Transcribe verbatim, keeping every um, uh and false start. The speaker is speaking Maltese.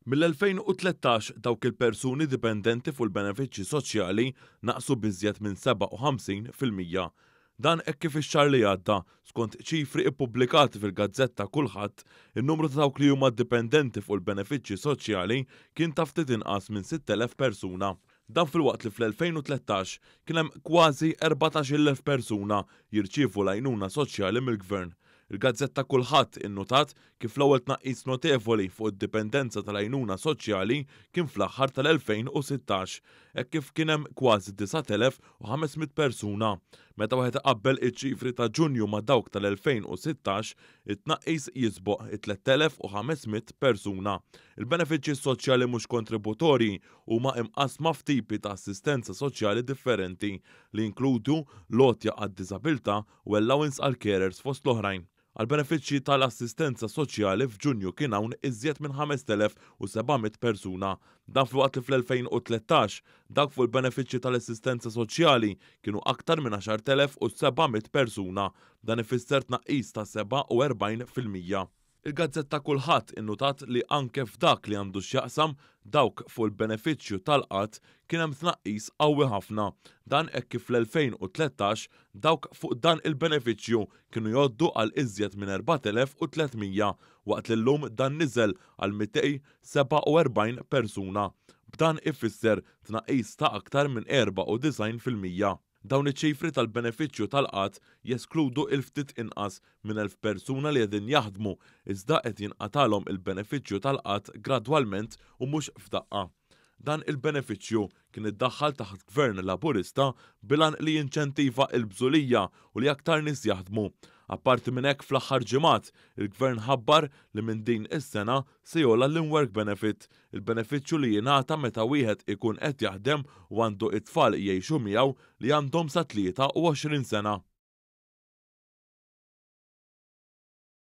Mill-elfejn u tlettax dawk il-persuni dipendenti fuq il-benefiċċji soċjali naqsu b'iżjed minn sebgħa u ħamsin fil-mija. Dan hekk kif ix-xahar li għadda, skont ċifri ippubblikati fil-gazzetta Kulħadd, in-numru ta' dawk li huma dipendenti fuq il-benefiċċji soċjali kien ta' ftit inqas minn sitt elef persuna. Dan filwaqt li fl-elfejn u tlettax kien hemm kważi erbatax-il elf persuna jirċievu l-għajnuna soċjali mill-Gvern. Il-gazzetta Kulħadd innutat kif l-ewwel tnaqqis notevoli fuq id-dipendenza tal-għajnuna soċjali kien fl-aħħar tal-elfejn u sittax, hekk kif kien hemm kważi disat elef u ħames mitt persuna. Meta wieħed iqabbel iċ-ċifri ta' Ġunju ma' dawk tal-elfejn u sittax, it-tnaqqis jisboq it-tlett elef u ħames mitt persuna. Il-benefiċċji soċjali mhux kontributorji huma imqassma f'tipi ta' assistenza soċjali differenti li jinkludu l-għotja għad-diżabilità u allowance għal carers fost l-oħrajn. Għal-benefiċċji tal-assistenza soċjali f'Ġunju kien hawn iżjed minn ħamest elef u seba' mitt persuna. Dan filwaqt li fl-elfejn u tlettax dawk fuq il-benefiċċji tal-assistenza soċjali kienu aktar minn għaxart elef u seba' mitt persuna. Dan ifisser tnaqqis ta' sebgħa u erbgħin fil-mija. Il-gazzetta Kulħadd innutat li anke f'dak li għandu x'jaqsam dawk fuq il-benefiċċju tal-qgħad kien hemm tnaqqis qawwi ħafna. Dan hekk kif fl-elfejn u tlettax dawk fuq dan il-benefiċċju kienu jgħoddu għal iżjed minn erbat elef u tliet mija, waqt li llum dan niżel għal mitej sebgħa u erbgħin persuna. B'dan ifisser tnaqqis ta' aktar minn erba' u disgħin fil-mija. Dawn iċ-ċifri tal-benefiċċju tal-qgħad jeskludu il-ftit inqas minn elf persuna li qegħdin jaħdmu iżda qed jinqatalhom il-benefiċċju tal-qgħad gradwalment u mhux f'daqqa. Dan il-benefiċċju kien iddaħħal taħt Gvern Laburista bil-għan li jinċentiva l-bżulija u li aktar nies jaħdmu. Apparti minn hekk fl-aħħar ġimgħat, il-Gvern ħabbar li minn din is-sena se jogħla l-in-work benefit, il-benefiċċju li jingħata meta wieħed ikun qed jaħdem u għandu it-tfal jgħixu miegħu li għandhom sa tlieta u għoxrin sena.